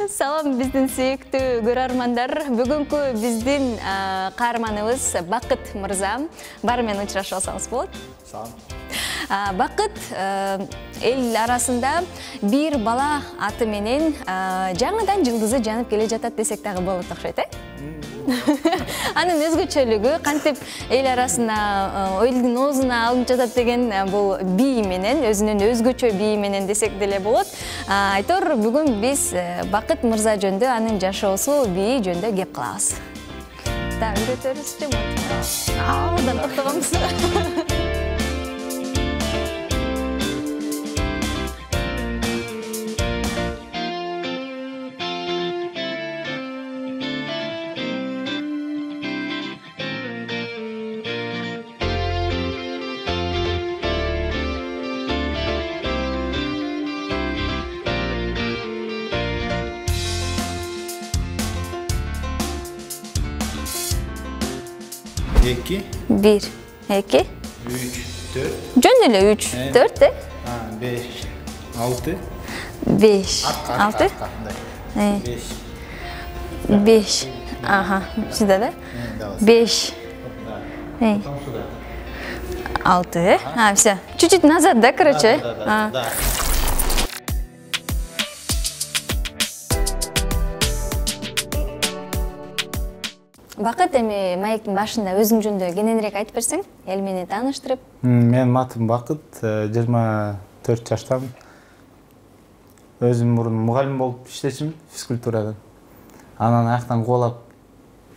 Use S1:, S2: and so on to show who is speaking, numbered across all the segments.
S1: Салам биздин сүйүктүү көрөрмандар. Бүгүнкү биздин каарманыбыз Бакыт мырза. Бары менен учурашып алсаңыз болот.
S2: Салам.
S1: Бакыт эл арасында бир бала аты менен жаңыдан жылдызы жанып келе жатат десек дагы болот окшойт, Анын өзгөчөлүгү кантип эл арасына элдин оозуна алынып жатат деген бул бии менен, өзүнүн өзгөчө бии менен десек деле болот. Айтор бүгүн биз Бакыт мырза жөнүндө, анын жашоосу, бии жөнүндө кеп кылабыз. Да, үйрөтөрүзчү. Алдан токтогонбуз.
S2: Эки.
S1: Бир, эки.
S2: Үч, төрт.
S1: Жөн эле 3, 4,
S2: Беш, алты.
S1: Беш, алты.
S2: Беш.
S1: Беш. Ага, сюда, да? Беш. Алты. Все. Чуть-чуть назад, да, короче?
S2: Да.
S1: Бакыт, эми маектин башында өзүң жөнүндө кененирээк айтып берсең, эл менен тааныштырып.
S2: Менин атым Бакыт, 24 жаштамын. Өзүм мурун мугалим болуп иштечүмүн физкультурадан. Анан аяктан кубалап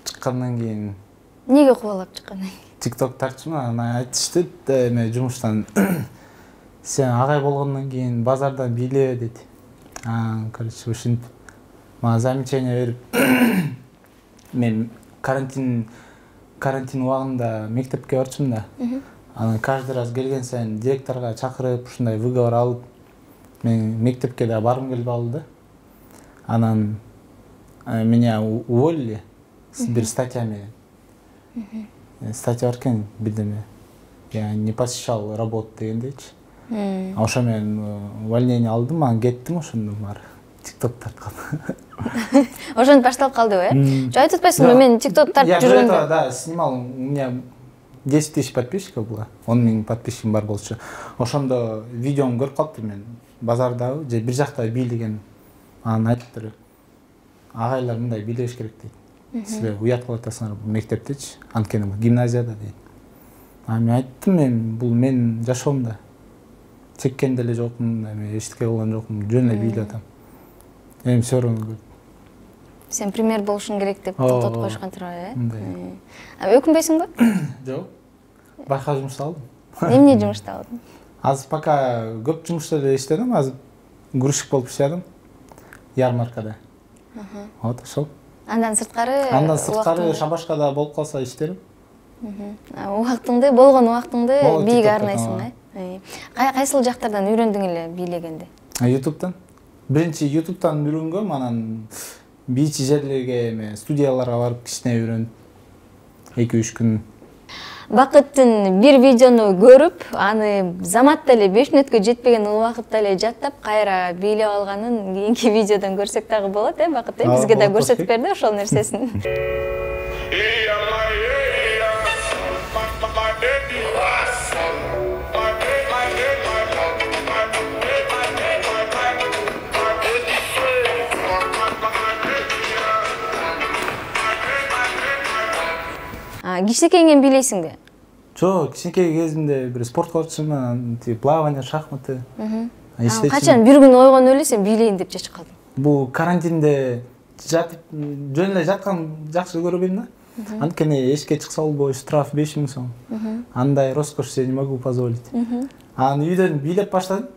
S2: чыккандан кийин.
S1: Эмнеге кубалап чыккандан кийин?
S2: TikTok тартчумун, анан айтышты, эме жумуштан сен агай болгондон кийин базардан бийле дейт. Короче, ушинтип мага замечание берип, мен карантин убагында мектепке барчумун да. Анан каждый раз келген сайын директорго чакырып, ушундай выговор алып, мен мектепке да баргым келбей калды. Анан меня уволили бир статья менен. Статья бар экен, бирдеме. Я не посещал работу дегендейчи. Ошо менен увольнение алдым, анан кеттим ошондон баары. TikTok тарткан.
S1: Ошентип башталып калдыбы, Жо айтып атпайсыңбы, мен TikTok тартып жүргөндө?
S2: Я да, снимал, у меня 10 тысяч подписчиков было, 10 000 подписчиким бар болчу. Ошондо видеом көрүп калыптыр мен. Базардагы же бир жакта бийлеген. Анан айтыптыр. Агайлар мындай бийлеш керек дейт. Силер уят кылып атасыңар мектептечи, анткени гимназияда дейт. Мен айттым, бул менин жашоомда. Чеккен деле жокмун, эми эчтеке кылган жокмун, жөн эле бийлеп атам. Эми сөрөңү.
S1: Сен пример болушуң керек деп токтотуп коюшкан турбайбы, Өкүнбөйсүңбү?
S2: Жок. Башка жумуш алдым.
S1: Эмне жумушта алдың?
S2: Азыр пока көп жумуштарда иштедим, азыр грузчик болуп иштедим. Ярмаркада. Вот ошол.
S1: Андан сырткары
S2: шабашкада болуп калса иштерим.
S1: Убактыңды, убактыңды бийге арнайсың, Кайсыл жактардан үйрөндүң эле бийлегенди?
S2: YouTube'дан. Биринчи YouTube'дан үйрөнгөм, анан бийчи жерлерге, студияларга барып кичине үйрөнүп, 2-3 күн.
S1: Бакыттын бир видеону көрүп, аны заматта эле 5 мүнөткө жетпеген убакытта эле жаттап, кайра бийлеп алганын кийинки видеодон көрсөк дагы болот, Бакыт? Бизге да көрсөтүп берди ошол нерсесин. Кичинекейиңен бийлейсиңби?
S2: Жок, кичинекей кезимде бир спорт кылчумун, плавание, шахматы.
S1: Качан бир күн ойгонуп эле сен бийлейин деп чечип калдың?
S2: Бул карантинде жатып, жөн эле жаткан жакшы көрбөйм да. Анткени эшикке чыкса болбой, штраф 5000 сом. Андай роскош себе не могу позволить. Анан үйдөн бийлеп баштадым.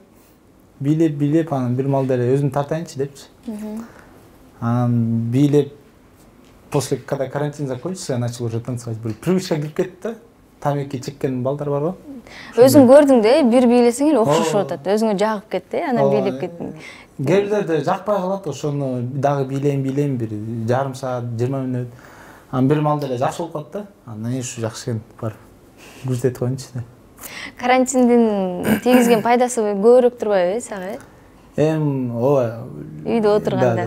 S2: Бийлеп, анан бир маалда эле өзүм тартайынчы депчи. Анан бийлеп, после когда карантин закончился, я начал уже танцевать. Привычка кирип кетти да. Тамеки чеккен балдар барбы?
S1: Өзүң көрдүң да, бир бийлесең эле окшошуп атат. Өзүңө жагып кетти, анан бийлеп кеттиң.
S2: Кээ бирлерде жакпай калат, ошону дагы бийлейм, бир жарым саат, 20 мүнөт. Анан бир маалда эле жакшы болуп калат да. Андан ушу жакшы экен, бар. Күзөтүп коеюнчу да.
S1: Карантиндин тийгизген пайдасы көбүрөөк турбайбы сага?
S2: ооба.
S1: Үйдө отурганда,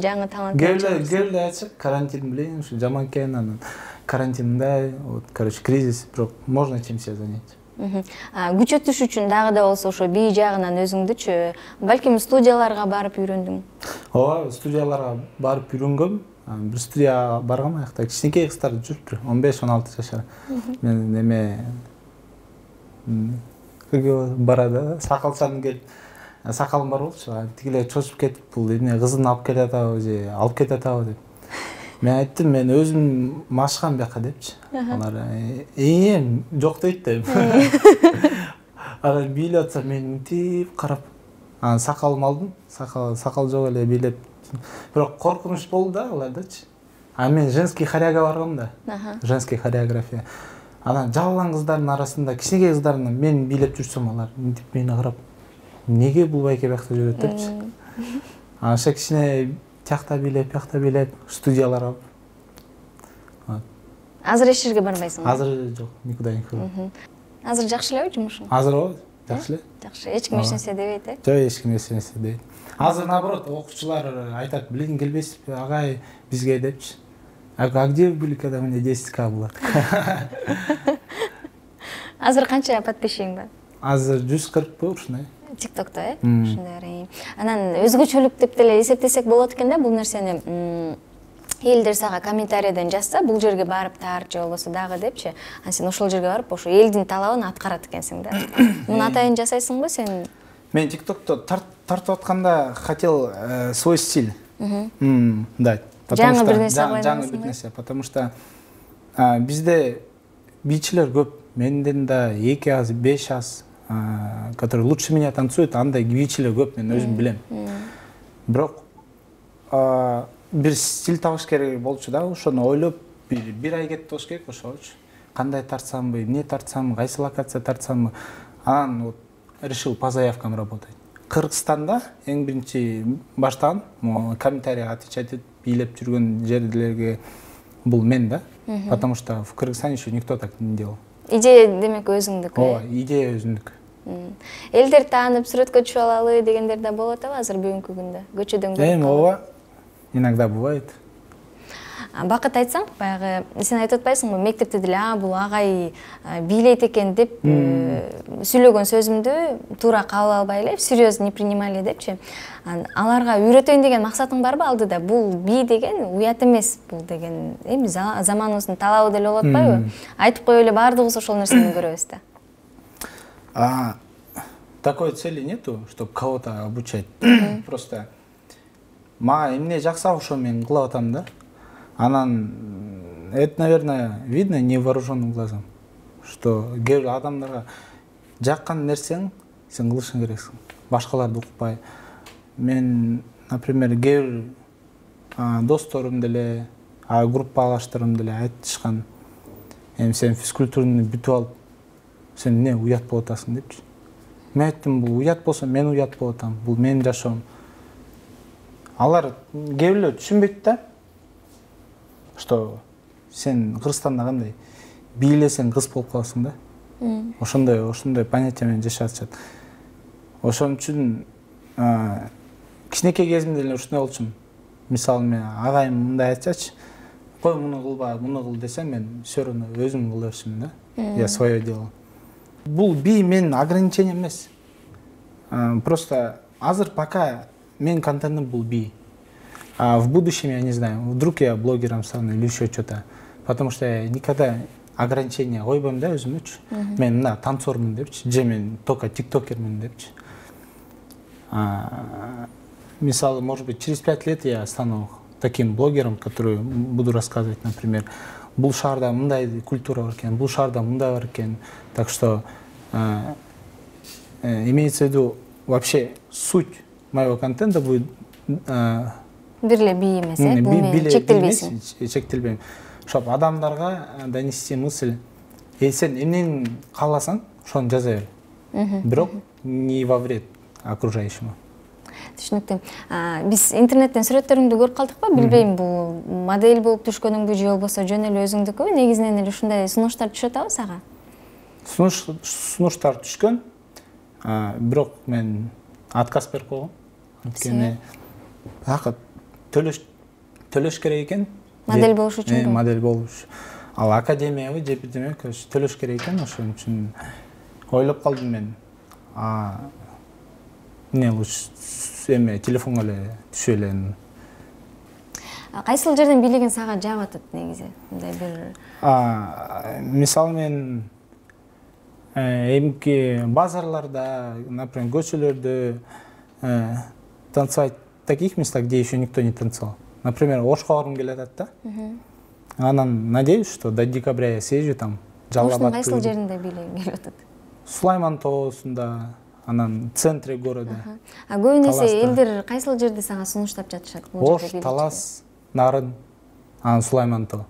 S1: жаңы талант.
S2: Келе ачык, карантин билейин, ушу жаман экен, анан карантинда, вот, короче, кризис, бирок можно чем себя занять.
S1: Күч өтүш үчүн дагы да болсо ошо бий жагынан өзүңдүчү, балким студияларга барып үйрөндүң.
S2: Ооба, студияларга барып үйрөнгөм. Бир студияга баргам, аякта кичинекей кыздар жүрүптүр, 15-16 жашар. Мен эме барады, сакалчан келип, сакалым бар болчу, тигилер чочуп кетип, бул эмне кызын алып келе атабы же алып кете атабы деп. Мен айттым, мен өзүм машкам бияка депчи. Алар жок дейт деп. Анан бийлеп атса мен мынтип карап, анан сакалымды алдым, сакал жок эле бийлеп. Бирок коркунуч болду да алардачы. Мен женский хоряга баргам да. Женский хореография. Анан жабылган кыздардын арасында, кичинекей кыздардын мен бийлеп жүрсөм, алар мынтип мени карап, неге бул байке биякта жүрөт депчи. Анан ошо кичине тиякта бийлеп, студияларга.
S1: Азыр эч жерге барбайсың?
S2: Азыр жок, никуда не хожу.
S1: Азыр жакшы элеби жумушуң?
S2: Азыр ооба, жакшы эле.
S1: Жакшы, эч ким эч нерсе дебейт,
S2: Жок, эч ким эч нерсе дебейт. Азыр наоборот, окуучулар айтат, билиң келбейсизби, агай бизге депчи. А где вы были, когда у меня 10К было?
S1: Азыр канча подписчигиң бар?
S2: Азыр 140 бул ушундай.
S1: ТикТокто, ушундай. Анан өзгөчөлүк деп деле эсептесек болот экен да, бул нерсени элдер сага комментарийден жазса, бул жерге барып таар же болбосо дагы депчи. Анан сен ошол жерге барып, ошо элдин талабын аткарат экенсиң да. Муну атайын жасайсыңбы сен?
S2: Мен ТикТокто тартып атканда хотел свой стиль дать.
S1: Жаңы бир нерсе
S2: жаңы бир нерсе, потому что бизде бийчилер көп. Менден да 2 аз, 5 аз, которые лучше меня танцуют, андай бийчилер көп, мен өзүм билем. Бирок бир стиль табыш керек болчу да, ошону ойлоп бир ай кетти болуш керек ошочу. Кандай тартсамбы, эмне тартсамбы, кайсы локация тартсамбы. Анан вот решил по заявкам работать. Кыргызстанда эң биринчи баштаган, комментарийге отвечать этип бийлеп жүргөн жерлерге бул мен да, потому что в Кыргызстане еще никто так не делал.
S1: Идея демек өзүңдүк.
S2: Ооба, идея өзүңдүк.
S1: Элдер таанып сүрөткө түшүп алалы дегендер да болот азыр бүгүнкү күндө. Көчөдөн көрүп.
S2: Ооба. Иногда бывает.
S1: Бакыт айтсаң, баягы сен айтып атпайсыңбы, мектепте деле бул агай бийлейт экен деп сүйлөгөн сөзүмдү туура кабыл албай эле, серьезно не принимали депчи. Аларга үйрөтөйүн деген максатың барбы алдыда? Бул бий деген уят эмес, бул деген эми заманыбыздын талабы деле болуп атпайбы? Айтып коюп эле баардыгыбыз ошол нерсени көрөбүз да.
S2: Такой цели нету, чтобы кого-то обучать. Просто мага эмне жакса ошо мен кылып атам да. Анан это, наверное, видно невооруженным глазом, что адамдарга жаккан нерсең сен кылышың керексиң. Башкаларды укпай. Мен, например, кээ бир досторум деле, группалаштарым деле айтышкан. Сен физкультураны бүтүп алып, сен эмне уят болуп атасың депчи. Мен айттым, бул уят болсо мен уят болуп атам. Бул менин жашоом. Алар кээ бирлер түшүнбөйт да. Что сен Кыргызстанда кандай бийлесең кыз болуп каласың да. Ошондой понятие менен жашап атышат. Ошон үчүн кичинекей кезимде эле ушундай болчумун. Мисалы мен агайым мындай айтсачы, кой муну кылба, муну кыл десем, мен всё равно өзүм кыла берчүмүн да. Я свое делал. Бул бий менин ограничением эмес. Просто азыр пока менин контентим бул бий. А в будущем, я не знаю, вдруг я блогером стану или еще что-то. Потому что я никогда ограничения койбойм да өзүмчү. Мен мына танцормун депчи, же мен только тиктокермин депчи. Мисалы, может быть, через 5 лет я стану таким блогером, который буду рассказывать, например, бул шаарда мындай культура бар экен, бул шаарда мындай бар экен. Так что имеется в виду вообще суть моего контента будет
S1: бирле бий эмес, бул менен чектелбейсиң.
S2: Чектелбейм. Чтоб адамдарга донести мысль, сен эмнени кааласаң, ошону жаза бер. Бирок не во вред окружающему.
S1: Түшүнүктүү. Биз интернеттен сүрөттөрүңдү көрүп калдыкпы? Билбейм, бул модель болуп түшкөнүңбү же болбосо жөн эле өзүңдүкүбү? Негизинен эле ушундай сунуштар түшөт атабы сага?
S2: Сунуштар түшкөн, бирок мен отказ берип койгом. Анткени акы төлөш керек экен.
S1: Модель болуш үчүн.
S2: Модель болуш. Ал академиябы же бирдеме төлөш керек экен, ошон үчүн ойлоп калдым мен. Эмне лучше телефонго эле түшө эле.
S1: Кайсыл жерден бийлигин сага жаап атат негизи? Мындай бир
S2: мисалы мен эмки базарларда, например, көчөлөрдө танцевать в таких местах, где еще никто не танцевал. Например, Ошко баргым келе атат да. Анан надеюсь, что до декабря я съезжу там.
S1: Ошнун кайсыл жеринде бийлигин келип атат?
S2: Сулайман тоосунда, анан центре города.
S1: Көбүнесе элдер кайсыл жерде сага сунуштап жатышат?
S2: Ош, Талас, Нарын, анан Сулайман тоо.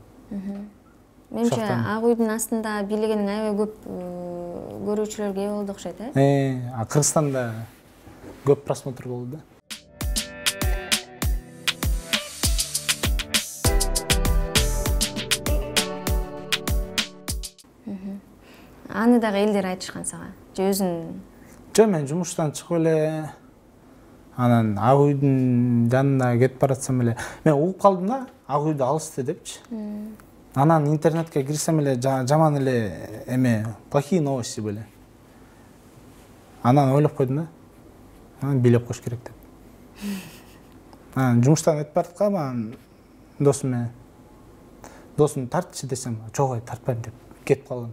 S1: Менимче ак үйдүн астында бийлигиниң аябай көп көрүүчүлөргө ээ болду окшойт,
S2: Кыргызстанда көп просмотр болду да.
S1: Аны дагы элдер айтышкан сага. Же өзүң?
S2: Жок, мен жумуштан чыгып эле анан ак үйдүн жанына кетип баратсам эле мен угуп калдым да, ак үйдү алысты депчи. Анан интернетке кирсем эле жаман эле плохие новости были. Анан ойлоп койдум да. Анан бийлеп коюш керек деп. Анан жумуштан өтүп бараткам, анан досум тартчы десем, жок, тартпайм деп кетип калган.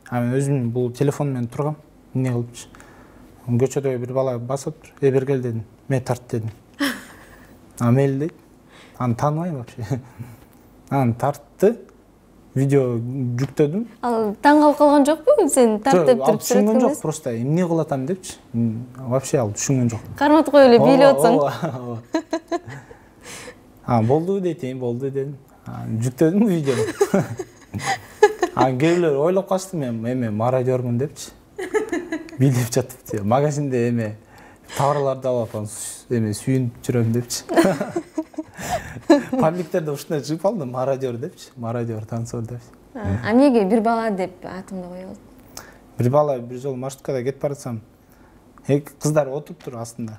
S2: Мен өзүм бул телефон менен тургам, эмне кылыпчы. Көчөдө бир бала басып, бергел дедим. Мен тарт дедим. Мейли дейт. Аны тааныбайм вообще. Анан тартты, видео жүктөдүм.
S1: Ал таң калып калган жокпу? Сен тарт деп туруп
S2: түшүнгөн жок, просто эмне кылып атам депчи. Вообще ал түшүнгөн жок.
S1: Карматып коюп эле бийлеп атсаң.
S2: Болду дейт, болду дедим. Жүктөдүм видеону. Кээ бирлер ойлоп калышты мен мародёрмун депчи. Бийлеп жатып, магазинде товарларды алып атам, сүйүнүп жүрөм депчи. Пабликтерде ушундай чыгып калды, мародёр депчи, мародёр, танцор депчи.
S1: Эмнеге бир бала деп атымды кое болду?
S2: Бир бала бир жолу маршруткада кетип баратсам, кыздар отуруптур астында.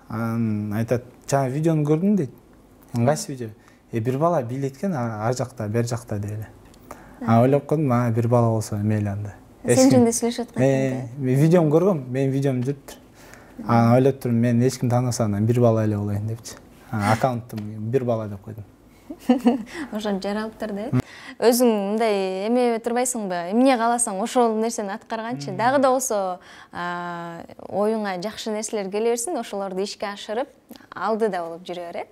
S2: Анан айтат, жана видеону көрдүм дейт. Кайсы видео? Бир бала бийлеткен ар жакта, бер жакта деп эле. Ойлоп койдум, бир бала болсо мейли анда.
S1: Сен жөнүндө сүйлөшүп аткан.
S2: Мен видеону көргөм, менин видеом жүрүптүр. Анан ойлоп турдум, мен эч ким тааныбаса анан бир бала эле болоюн депчи. Аккаунттум бир бала деп койдум.
S1: Ошон жаралыптыр да. Өзүң мындай эмебей турбайсыңбы? Эмне кааласаң ошол нерсени аткарганчы. Дагы да болсо оюңа жакшы нерселер келе берсин, ошолорду ишке ашырып, алдыда болуп жүрө бер.